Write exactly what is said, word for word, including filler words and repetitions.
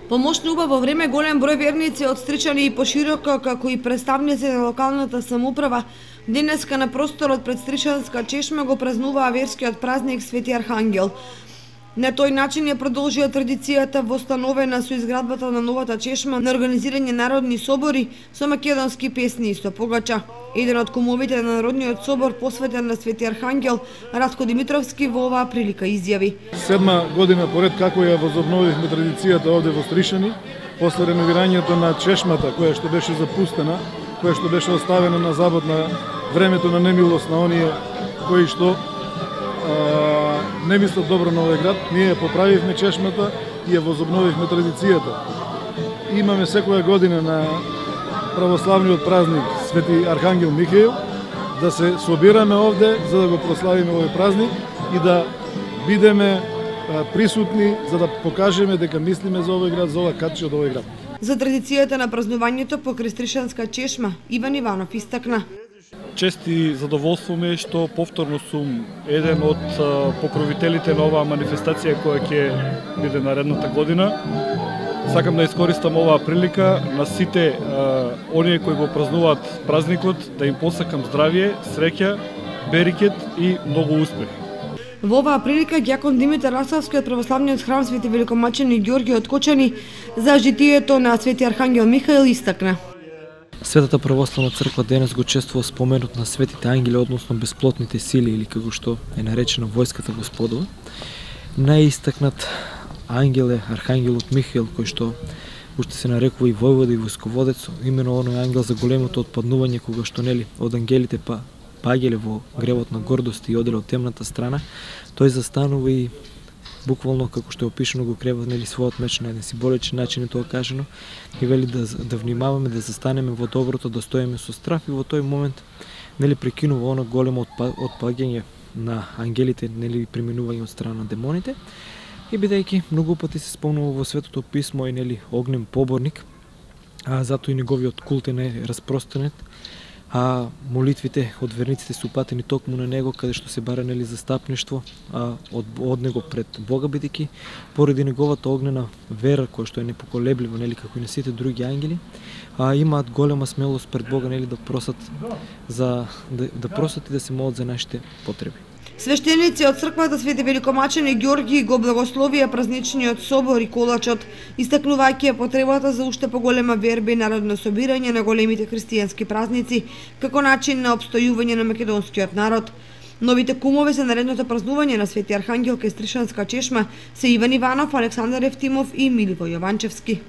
Помошна уба во време голем број верници од Стричани и пошироко, како и представници на локалната самоуправа, денеска на просторот пред Стричанска чешма го празнуваа верскиот празник Свети Архангел. На тој начин ја продолжија традицијата востановена со изградбата на новата чешма на организирање народни собори со македонски песни и со погача. Еден од кумовите на Народниот собор посветен на Свети Архангел, Радко Димитровски, во оваа прилика изјави: Седма година поред како ја возобновивме традицијата овде во Стришани, после реновирањето на чешмата која што беше запустена, која што беше оставена на забот на времето на немилост на оние кои што а, не мислат добро на овој град, ние ја поправивме чешмата и ја возобновивме традицијата. Имаме секоја година на православниот празник Свети Архангел Михаил да се собираме овде за да го прославиме овој празник и да бидеме присутни за да покажеме дека мислиме за овој град, за ова катче од овој град. За традицијата на празнувањето покрај Стришанска чешма Иван Иванов истакна: Чест и задоволство ми е што повторно сум еден од покровителите на оваа манифестација која ќе биде наредната година. Сакам да искористам оваа прилика на сите а, оние кои го празнуваат празникот да им посакам здравје, среќа, берикет и многу успех. Во оваа прилика ѓакон Димитар Расавски од православниот храм Свети Великомачени Ѓорги од Кочани за житието на Свети Архангел Михаил истакна: Светата православна црква денес го чествува споменот на светите ангели, односно бесплотните сили или како што е наречена војската Господова. Најистакнат ангел е Архангелот Михаил, кој што уште се нарекува и војвода и војсководец, имено оној ангел за големото отпаднување кога што нели од ангелите па паѓале во гревот на гордост и оделе од темната страна. Тој застанува и буквално како што е опишано го крива нели својот меч на еден символичен начин е тоа кажано и вели да да внимаваме да застанеме во доброто, да стоиме со страв и во тој момент нели прекинува оно големо отпаѓање на ангелите, нели преминување од страна на демоните. И бидејќи многу пати се спомнува во Светото писмо и нели огнен поборник, а затоа и неговиот култ е распространет, а молитвите од верниците се упатени токму на него, каде што се бара нели застапништво а, од, од него пред Бога, бидејќи поради неговата огнена вера која што е непоколеблива, нели како и на сите други ангели, а имаат голема смелост пред Бога нели да просат за да, да просат и да се молат за нашите потреби. Свештеници од црквата Свети Великомачени Ѓорги го благословија празничниот собор и колачот, истакнувајќи потребата за уште поголема верба и народно собирање на големите христијански празници како начин на опстојување на македонскиот народ. Новите кумови за наредното празнување на Свети Архангел кај Стришанска чешма се Иван Иванов, Александар Евтимов и Миливој Јованчевски.